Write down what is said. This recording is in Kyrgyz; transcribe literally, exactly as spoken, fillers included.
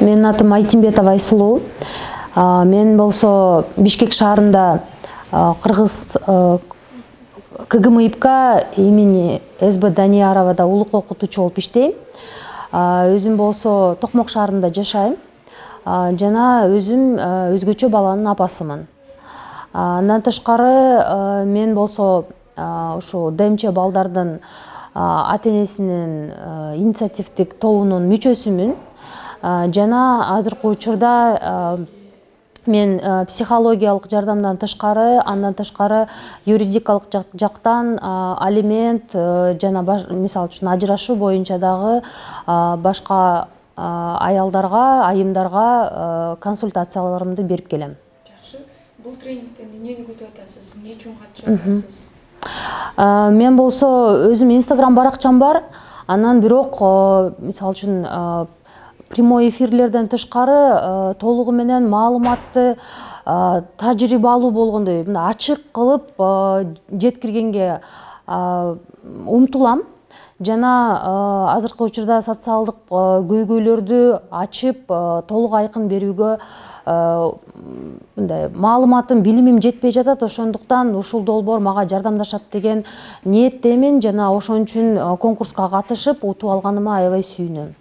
Менин атым Айтимбетова Айсулуу. Мен болсо Бишкек шаарында Кыргыз КГМИПК имени СБ Данияровада улук окутуучу болуп иштейм. Өзүм болсо Токмок шаарында жашайм. Жана өзүм өзгөчө баланын апасымын. Андан тышкары мен болсо ушу ДМЧ балдардын ата-энесинин инициативдик тобунун мүчөсүмүн. Жана азыркы учурда мен психологиялык жардамдан тышкары, андан тышкары юридикалык жактан алимент жана мисалы үчүн ажырашуу боюнча дагы башка аялдарга, айымдарга консультацияларымды берип келем. Жакшы. Бул тренингден эмнени күтүп атасыз? Эмне үчүн катышып атасыз? Мен болсо өзүм Инстаграм баракчам бар. Анан бирок мисалы үчүн прямой эфирлерден тышкары толугу менен маалыматты тажрыйбалуу болгондой ачык кылып жеткиргенге умтулам. Жана азыркы учурда социалдык көйгөйлөрдү ачып толук айкын берүүгө мындай маалыматым, билимим жетпей жатат. Ошондуктан ушул долбоор мага жардамдашат деген ниеттемин жана ошон үчүн конкурска катышып утуп алганыма аябай сүйүнөм.